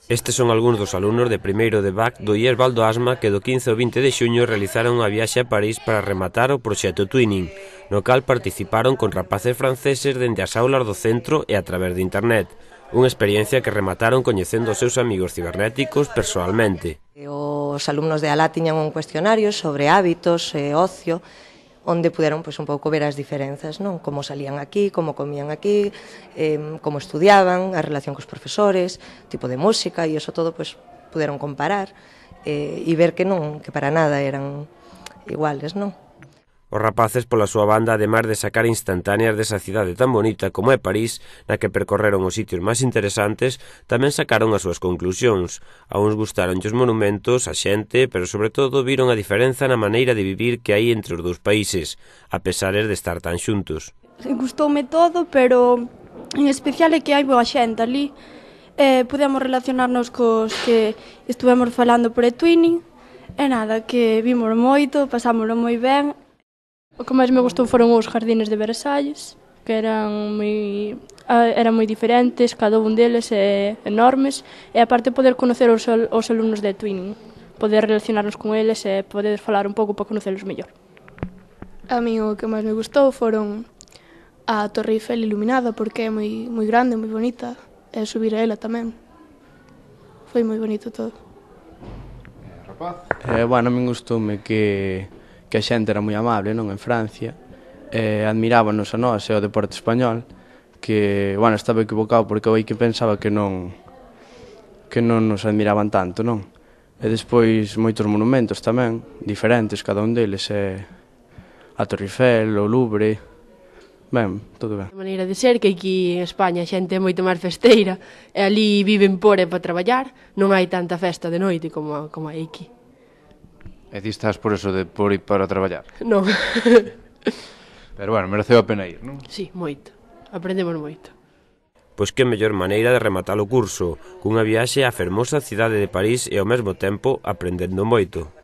Estes son algúns dos alumnos de primeiro de BAC do IES Valdoasma que do 15 ao 20 de xuño realizaron unha viaxe a París para rematar o proxecto Twinning, no cal participaron con rapaces franceses dende as aulas do centro e a través de internet. Unha experiencia que remataron coñecendo os seus amigos cibernéticos persoalmente. Os alumnos de ALA tiñan un cuestionario sobre hábitos e ocio, onde puderon un pouco ver as diferenzas, non? Como salían aquí, como comían aquí, como estudiaban, a relación cos profesores, tipo de música, e iso todo puderon comparar e ver que para nada eran iguales, non? Os rapaces, pola súa banda, ademais de sacar instantáneas desa cidade tan bonita como é París, na que percorreron os sitios máis interesantes, tamén sacaron as súas conclusións. A uns gustaronlle os monumentos, a xente, pero sobre todo viron a diferenza na maneira de vivir que hai entre os dous países, a pesares de estar tan xuntos. Gustoume todo, pero en especial é que hai boa xente ali. Podemos relacionarnos cos que estuvemos falando por eTwinning, e nada, que vimos moito, pasámoslo moi ben. O que máis me gustou foron os jardines de Versalles, que eran moi diferentes, cada un deles enormes, e aparte poder conocer os alumnos de Twinning, poder relacionarnos con eles e poder falar un pouco para conocerlos mellor. A mí o que máis me gustou foron a Torre Eiffel iluminada, porque é moi grande, moi bonita, e subir a ela tamén. Foi moi bonito todo. Rapaz? Bueno, a min gustoume que a xente era moi amable, non, en Francia, admirábanos a nós e ao deporte español, que, bueno, estaba equivocado porque eu que pensaba que non nos admiraban tanto, non? E despois moitos monumentos tamén, diferentes, cada un deles, a Torre Eiffel, o Louvre, ben, todo ben. A maneira de ser que aquí en España a xente é moito máis festeira, e ali viven por e para traballar, non hai tanta festa de noite como hai aquí. E ti estás por eso de por ir para traballar? Non. Pero bueno, mereceu a pena ir, non? Sí, moito. Aprendemos moito. Pois que mellor maneira de rematar o curso, cunha viaxe á fermosa cidade de París e ao mesmo tempo aprendendo moito.